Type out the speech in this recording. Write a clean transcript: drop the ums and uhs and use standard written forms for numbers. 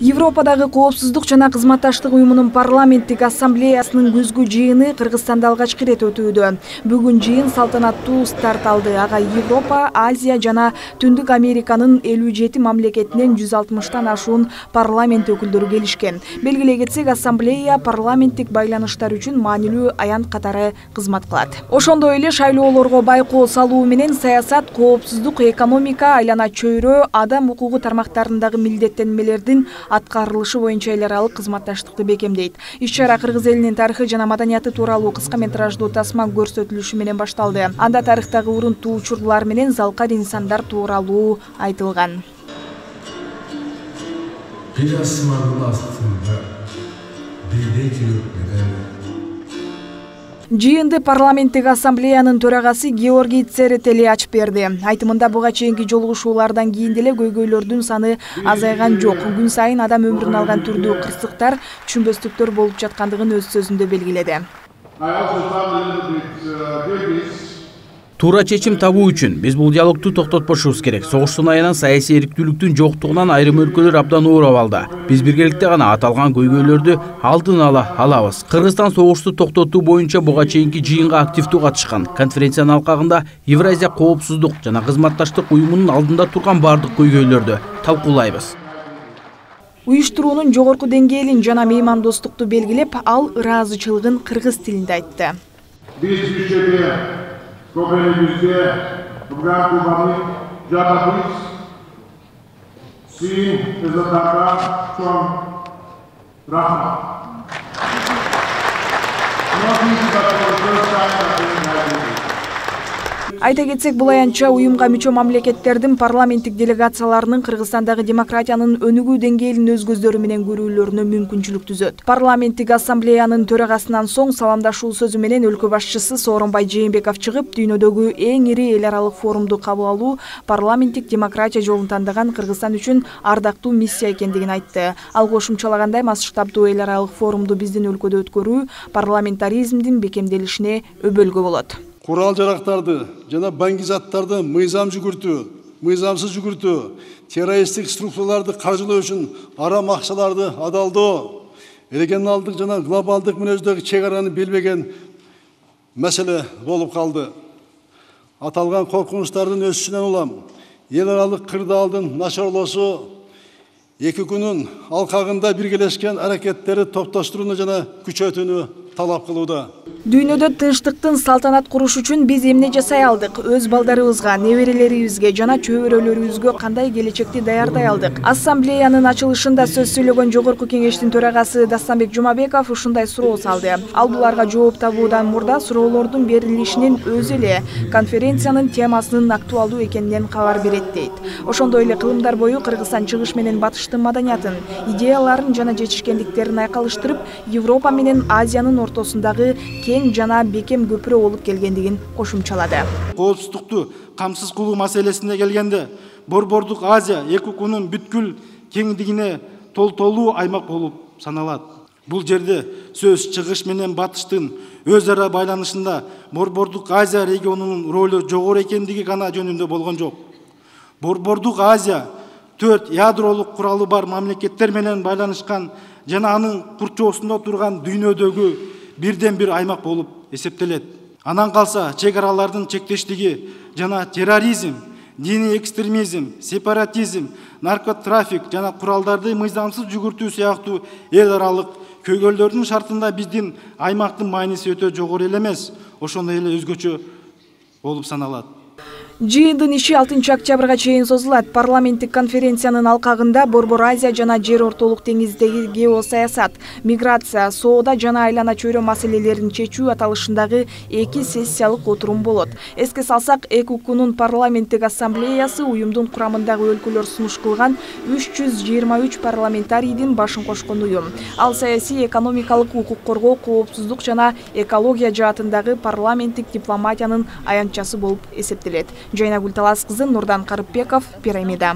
Европадагы коопсуздук жана кызматташтык уюмунун парламенттик ассамблеясынын күзгү жыйыны Кыргызстанда алгачкы ирет өтүүдө. Бүгүн жыйын салтанаттуу старт алды. Ага Европа, Азия жана Түндүк Американын 57 мамлекетинен 160тан ашуун парламент өкүлдөрү келишкен. Белгилей кетсек, ассамблея парламенттик байланыштар үчүн маанилүү аянт катары кызмат кылат. Ошондой эле шайлоолорго байкоо салуу менен саясат, коопсуздук, экономика, айлана чөйрө, адам укугу тармактарындагы милдеттенмелердин аткарылышы боюнча эл аралык кызматташтыкты бекемдейт. Иш-чара кыргыз элинин тарыхы жана маданияты тууралуу кыска метраждуу тасма көрсөтүлүшү менен башталды. Анда тарыхтагы урунтуу учурлар менен залкар инсандар тууралуу айтылган. Жыйынды парламенттик ассамблеянын төрагасы Георгий Церетели ачып берди. Айтымында буга чейинки жолугушуулардан кийин деле көйгөйлөрдүн саны азайган жок. Күн сайын адам өмүрүн алган түрдүү кырсыктар, түшүнбөстүктөр болуп жаткандыгын өз сөзүндө белгиледи. Туура чечим табуу үчүн биз бул диалогду токтотпошубуз керек. Согуштун аянан саясий эрктүүлүктүн жоктугунан айрым өлкөлөр абдан оор абалда. Биз биргеликте гана аталган көйгөйлөрдү алдын ала алабыз. Кыргызстан согушту токтотуу боюнча буга чейинки жыйынга активдүү катышкан. Конференциянын алкагында Евразия коопсуздук жана кызматташтык уюмунун алдында турган бардык көйгөйлөрдү талкуулайбыз. Уюштуруунун жогорку деңгээлин жана меймандостукту белгилеп, ал ыраазычылыгын кыргыз тилинде айтты. Көбөнүбүздө бүгүн кубаны жабабыз, син эзотарга чоң рахмат. Айта кетсек, бул аянтча уюмга мүчө мамлекеттердин парламенттик делегацияларынын Кыргызстандагы демократиянын өнүгүү деңгээлин өз көздөрү менен көрүүлөрүнө мүмкүнчүлүк түзөт. Парламенттик ассамблеянын төрагасынан соң саламдашуу сөзү менен өлкө башчысы Сооронбай Жээнбеков чыгып, дүйнөдөгү эң ири эл аралык форумду кабыл алуу парламенттик демократия жолун тандаган Кыргызстан үчүн ардактуу миссия экендигин айтты. Ал кошумчалагандай, масштабдуу эл аралык форумду биздин өлкөдө өткөрүү парламентаризмдин бекемделишине өбөлгө болот. Курал жарактарды жана баңгизаттарды мыйзамсыз жүгүртүү, террористтик структураларды каржылоо үчүн арам акчаларды адалдоо, регионалдык жана глобалдык мүнөздөгү чек араны билбеген маселе болуп калды. Аталган коркунучтардын өсүшүнөн улам эл аралык кырдаалдын начарлоосу эки күнүн алкагында биргелешкен аракеттери топтоштурууну жана күчөтүүнү талап кылууда. Дүйнөдө тынчтыктын салтанат куруш үчүн биз эмне жасай алдык? Өз балдарыбызга, неберелерибизге жана чөбөрөлөрүбүзгө кандай келечекти даярдай алдык? Ассамблеянын ачылышында сөз сүйлөгөн жогорку кеңештин төрагасы Дастанбек Жумабеков ушундай суроо салды. Ал буларга жооп табуудан мурда суроолордун берилишинин өзү эле конференциянын темасынын актуалдуу экенинен кабар берет дейт. Ошондой эле кылымдар бою Кыргызстан чыгыш менен батыштын маданиятын, идеяларын жана жетишкендиктерин айкалыштырып, Европа менен Азиянын ортосундагы кең жана бекем көпүрө болуп келгендигин кошумчалады. Коопсуздукту камсыз кылуу маселесине келгенде, Борбордук Азия эки укунун бүткүл кеңдигине толтолуу аймак болуп саналат. Бул жерде сөз чыгыш менен батыштын өз ара байланышында Борбордук Азия регионунун ролу жогору экендиги гана жөнүндө болгон жок. Борбордук Азия 4 ядролук куралы бар мамлекеттер менен байланышкан жана анын курчоосунда турган дүйнөдөгү бирден бир аймак болуп эсептелет. Анан калса чек аралардын чектештиги жана терроризм, диний экстремизм, сепаратизм, наркотрафик жана куралдарды мыйзамсыз жүгүртүү сыяктуу эл аралык көйгөйлөрдүн шартында биздин аймактын мааниси өтө жогору эле эмес, ошондой эле өзгөчө болуп саналат. Жыйындын иши 6 октябрга чейин созулат. Парламенттик конференциянын алкагында Борбор Азия жана жер ортолук деңиздеги геосаясат, миграция, соода жана айлана чөйрө маселелерин чечүү аталышындагы 2 сессиялык отурум болот. Эске салсак, эки укунун парламенттик ассамблеясы уюмдун курамындагы өлкөлөр сунуш кылган 323 парламентарийдин башын кошкон уюм. Ал саясий, экономикалык, укук коргоо, коопсуздук жана экология жаатындагы парламенттик дипломатиянын аянтчасы болуп эсептелет. Жайнагүл Талас кызы, Нурдан Карыпбеков, Пирамида.